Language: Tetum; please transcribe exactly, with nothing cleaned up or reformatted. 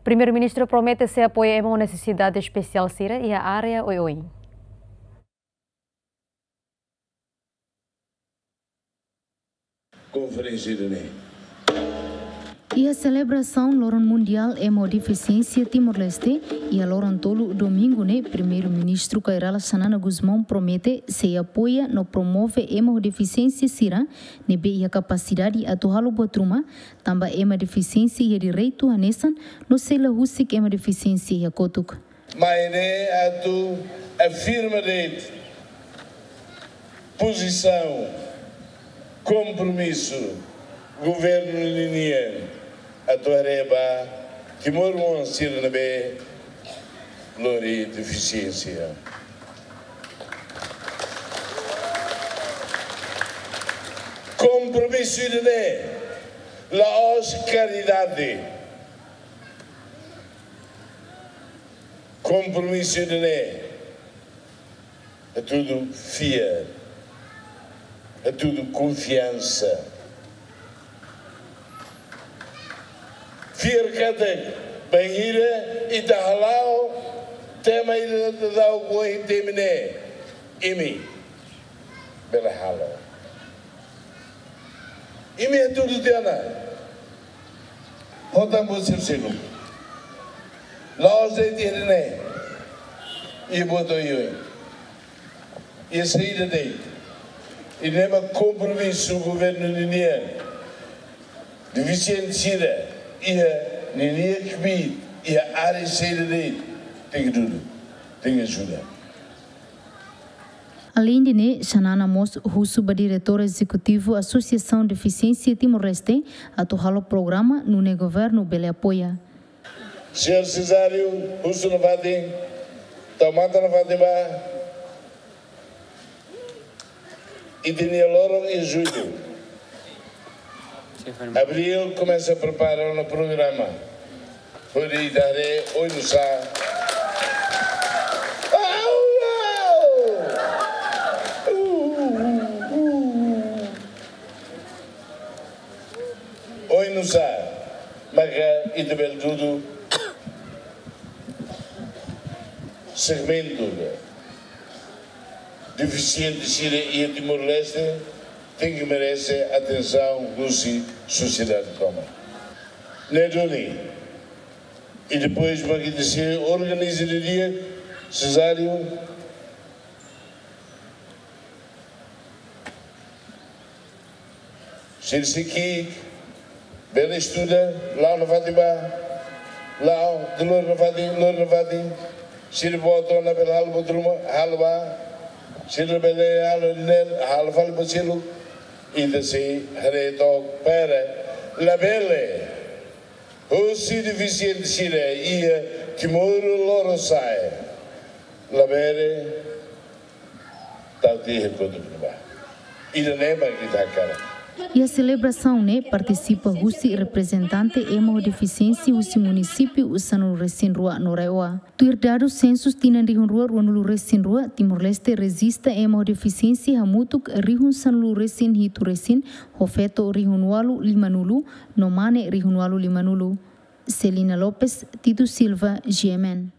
Primeiru-Ministru promete sei apoia ema ho nesesidade espesiál sira iha área oioin. Konferénsia ida-ne'e. Iha selebrasaun Loron Mundiál Ema ho Defisiénsia Timor-Leste, iha loron tolu domingu ne'e, Primeiru-Ministru Kay Rala Xanana Gusmão promete sei apoia no promove ema ho defisiénsia sira ne'ebé iha kapasidade atu halo buat ruma, tanba ema defisiénsia iha direitu hanesan no sei la husik ema defisiénsia iha kotuk. Mai ne'e atu afirma de'it pozisaun, kompromisu governu ninian atu haree ba timoroan sira ne'ebé lori defisiénsia. Kompromisu ida-ne'e la'ós karidade. Kompromisu ida-ne'e hatudu fiar, hatudu konfiansa. Fiar katak bainhira ita hala'o tema ida daudaun ohin temi ne'e, imi bele halo. Imi hatudu tiha ona. Hotu buat sira seluk. La'ós de'it iha ne'e. Iha buat oioin. Iha saida de'it. Ida-ne'e mak kompromisu governu ninian. Defisiente sira iha ninia kbiit, iha área saida de'it, tenke dudu, tenke ajuda. Aleinde ne'e, Xanana mós husu ba Diretór Ezekutivu Asosiasaun Defisiénsia Timor-Leste atu halo programa nune'e governu bele apoia. Señór Cesário, husu nafatin, tau matan nafatin ba, ita-nia loron iha Jullu. Abríl komesa prepara ona programa. Hodi ita haree oinsá. Au, au! Oinsá maka ita bele dudu segmentu defisiente sira iha Timor-Leste tenke merese atensaun husi sosiedade tomak. Ne'e duni, i depois mak ita sei organiza didi'ak, Cesário, sira sei ki'ik, bele estuda, la'o nafatin ba, la'o, lori nafatin, lori nafatin, sira boot ona bele halo buat ruma, halo ba, sira bele halo ne'e, halo fali ba seluk, ita sei haree took para, labele, husi defisiente sira iha Timor lorosa'e, labele, tau tiha kotuk ne'ebá. Ida-ne'e mak ita hakarak. Iha selebrasaun ne'e partisipa husi reprezentante ema ho defisiénsia husi munisípiu sanulu-resin-rua no RAEOA. Tuir dadus sensus tinan rihun rua ruanulu-resin-rua, Timor-Leste rejista ema ho defisiénsia hamutuk rihun sanulu-resin-hitu resin, ho feto rihun ualu limanulu, no mane rihun ualu limanulu. Celina Lopes, Tito Silva, G M N.